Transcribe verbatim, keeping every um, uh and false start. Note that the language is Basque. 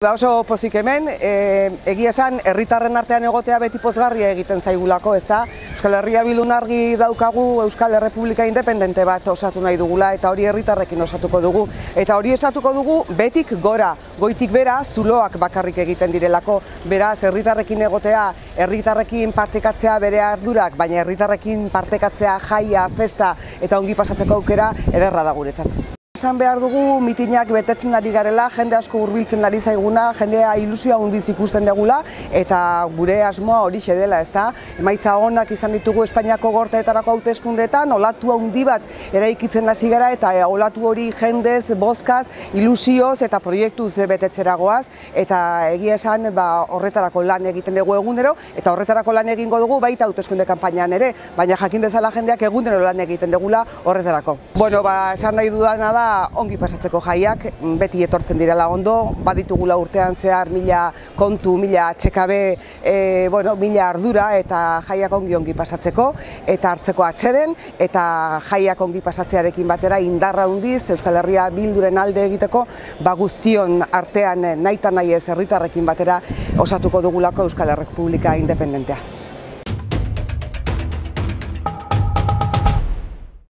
Ba oso pozik hemen, e, egia esan, herritarren artean egotea beti pozgarria egiten zaigulako, ezta? Euskal Herria Bildun argi daukagu Euskal Errepublika independente bat osatu nahi dugula, eta hori herritarrekin osatuko dugu. Eta hori osatuko dugu betik gora, goitik bera, zuloak bakarrik egiten direlako. Beraz, herritarrekin egotea, herritarrekin partekatzea bere ardurak, baina herritarrekin partekatzea jaia, festa eta ongi pasatzeko aukera ederra da guretzat. Esan behar dugu mitinak betetzen ari garela, jende asko hurbiltzen ari zaiguna, jendea ilusioa handiz ikusten degula, eta gure asmoa horixe dela, ezta? Emaitza onak izan ditugu Espainiako gorteetarako hauteskundeetan, olatu handi bat eraikitzen hasi gara, eta olatu hori jendez, bozkaz, ilusioz eta proiektuz betetzera goaz, eta egia esan ba, horretarako lan egiten dugu egunero, eta horretarako lan egingo dugu baita hauteskunde kanpainan ere, baina jakin dezala jendeak egunero lan egiten dugula horretarako. Bueno, ba, esan nahi dudana da, ongi pasatzeko jaiak, beti etortzen direla ondo, baditugula urtean zehar mila kontu, mila txekabe, e, bueno, mila ardura eta jaiak ongi ongi pasatzeko, eta hartzeko atxeden, eta jaiak ongi pasatzearekin batera indarra handiz Euskal Herria Bilduren alde egiteko, ba guztion artean nahita nahi ez herritarrekin batera osatuko dugulako Euskal Errepublika independentea.